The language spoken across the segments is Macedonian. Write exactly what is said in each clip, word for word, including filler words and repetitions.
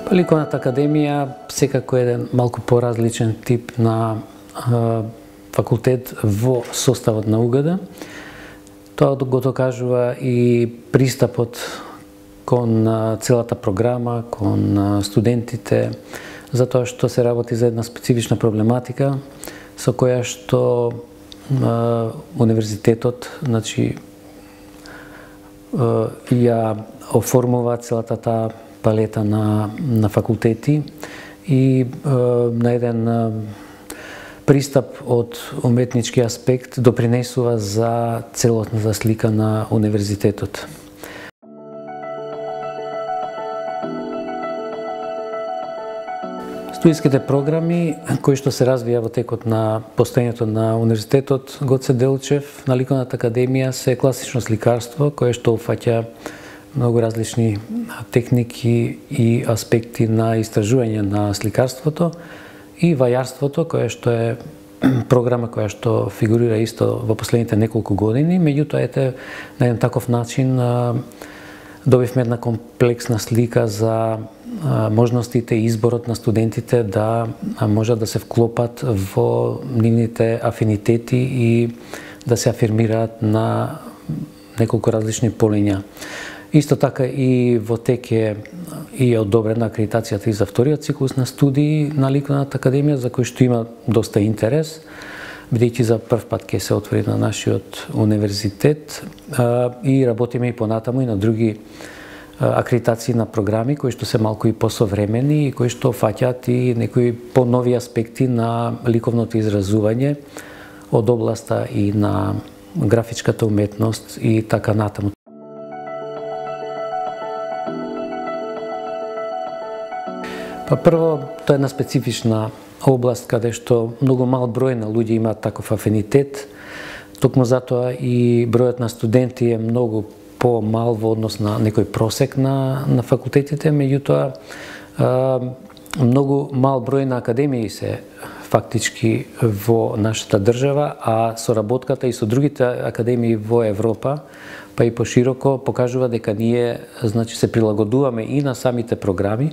Ликовната академија секако е еден малку поразличен тип на а, факултет во составот на У Г Д. Тоа го докажува и пристапот кон целата програма, кон студентите, затоа што се работи за една специфична проблематика со која што а, универзитетот, значи, а, ја оформува целата таа палета на, на факултети и а, на еден а, пристап од уметнички аспект допринесува за целосната слика на универзитетот. Студиските програми кои што се развија во текот на постоењето на универзитетот Гоце Делчев на Ликовната академија се класично сликарство кое што уфаќа многу различни техники и аспекти на истражување на сликарството и вајарството, кое што е програма која што фигурира исто во последните неколку години, меѓутоа ете на еден таков начин добивме една комплексна слика за можностите и изборот на студентите да можат да се вклопат во нивните афинитети и да се афирмираат на неколку различни полиња. Исто така и во тек е и е одобрена акредитацијата и за вториот циклус на студии на Ликовната академија, за кој што има доста интерес, бидејќи за прв пат ќе се отвори на нашиот универзитет и работиме и понатаму и на други акредитации на програми кои што се малку и посовремени и кои што фаќаат и некои понови аспекти на ликовното изразување од областа и на графичката уметност и така натаму. Па прво, тоа е една специфична област каде што многу мал број на луѓе имаат таков афинитет. Токму затоа и бројот на студенти е многу по-мал во однос на некој просек на, на факултетите, меѓутоа многу мал број на академии се фактички во нашата држава, а соработката и со другите академии во Европа, па и пошироко, покажува дека ние, значи, се прилагодуваме и на самите програми,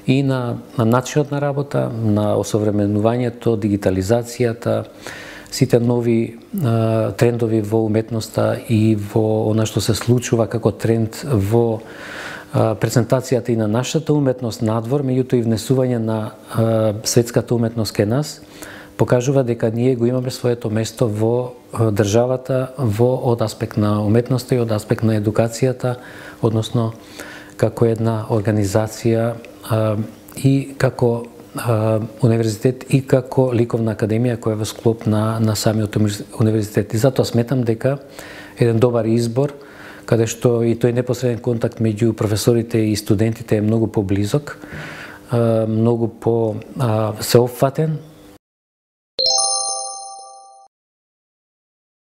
и на, на начинот на работа, на осовременувањето, дигитализацијата, сите нови а, трендови во уметноста и во она што се случува како тренд во а, презентацијата и на нашата уметност надвор, меѓутоа и внесување на а, светската уметност кај нас, покажува дека ние го имаме своето место во а, државата, во од аспект на уметноста и од аспект на едукацијата, односно како една организација а, и како а, универзитет и како ликовна академија која е во склоп на, на самиот универзитет. И затоа сметам дека еден добар избор, каде што и тој непосреден контакт меѓу професорите и студентите е многу поблизок, а, многу по а, сеопфатен,